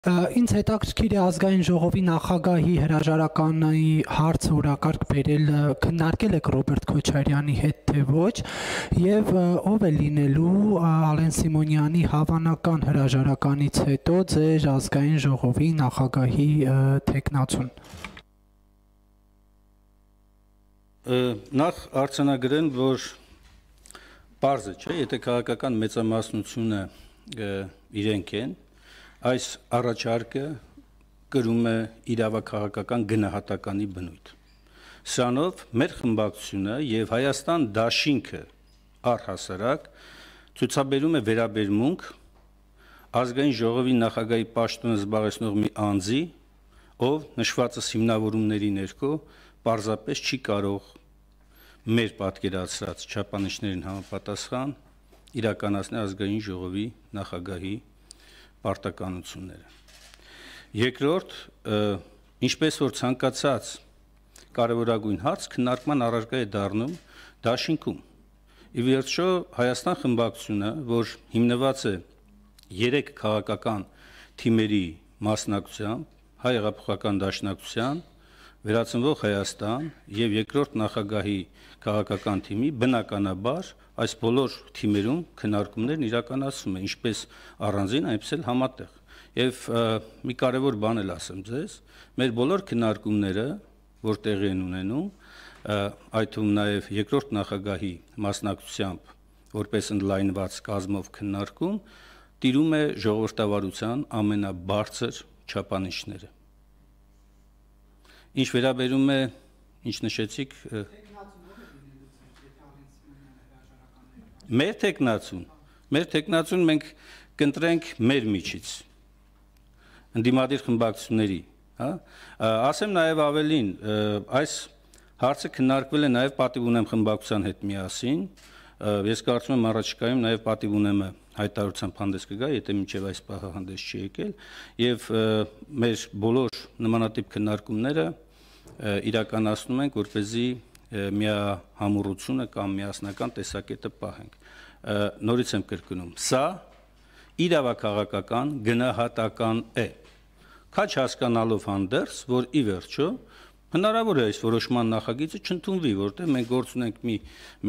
Ինձ հետաքրքիր է ազգային ժողովի նախագահի հրաժարականի հարցը օրակարգ բերել, քննարկել եք Ռոբերտ Քոչարյանի հետ թե ոչ, եւ ով է լինելու Ալեն Սիմոնյանի հավանական հրաժարականից հետո ձեր ազգային ժողովի նախագահի թեկնածուն։ Նախ արձանագրեն, որ պարզ է, չէ, եթե քաղաքական մեծամասնությունը իրենք են, այս առաջարկը կրում է իրավաքաղաքական գնահատականի բնույթ։ Սրանով մեր խմբակցությունը եւ Հայաստան դաշինքը առհասարակ ցուցաբերում է վերաբերմունք ազգային ժողովի նախագահի պաշտոնը զբաղեցնող մի անձի, ով նշվածս հիմնավորումների ներքո պարզապես չի կարող մեր պատկերացրած չափանիշներին համապատասխան իրականացնել ազգային ժողովի նախագահի պարտականությունները։ Երկրորդ, ինչպես որ ցանկացած կարևորագույն հարց քննարկման առարկա է դառնում դաշինքում։ Ի վերջո Հայաստան խմբակցությունը, որ հիմնված է 3 քաղաքական թիմերի մասնակցությամբ, Հայ հեղափոխական դաշնակցության, Վերածնվող Հայաստան եւ երկրորդ նախագահի քաղաքական թիմի, բնականաբար այս բոլոր թիմերում քննարկումներն իրականացվում են, ինչպես առանձին, այնպես էլ համատեղ։ Եվ մի կարևոր բան էլ ասեմ ձեզ, մեր բոլոր քննարկումները, որ տեղի են ունենում, այդ թվում նաեւ երկրորդ նախագահի մասնակցությամբ, որպես ընդլայնված կազմով քննարկում, տիրում է ժողովրդավարության ամենաբարձր չափանիշները։ Ինչ վերաբերում է, ինչ նշեցիք, մեր թեկնածուն մենք կընտրենք մեր միջից, ընդդիմադիր խմբակցությունների, հա, ասեմ նաև ավելին, այս հարցը քննարկվել է նաև պատիվ ունեմ խմբակցության հետ միասին, ես կարծում եմ առաջիկայում նաև պատիվ ունեմը հայտարարությամբ հանդես կգա, եթե մինչև այս պահը հանդես չի եկել, եւ մեր բոլոր նմանատիպ քննարկումները իրականացնում ենք, որպեսզի միահամուռությունը կամ միասնական տեսակետը պահենք։ Նորից եմ կրկնում, սա իրավաքաղաքական գնահատական է, քաչ հասկանալով հանդերձ, որ ի վերջո հնարավոր է այս որոշման նախագիծը չընդունվի, որտեղ մենք գործ ունենք մի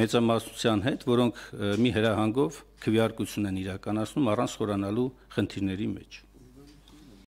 մեծամասնության հետ, որոնք մի հրահանգով քվեարկություն են իրականացնում առանց խորանալու խնդիրների մեջ։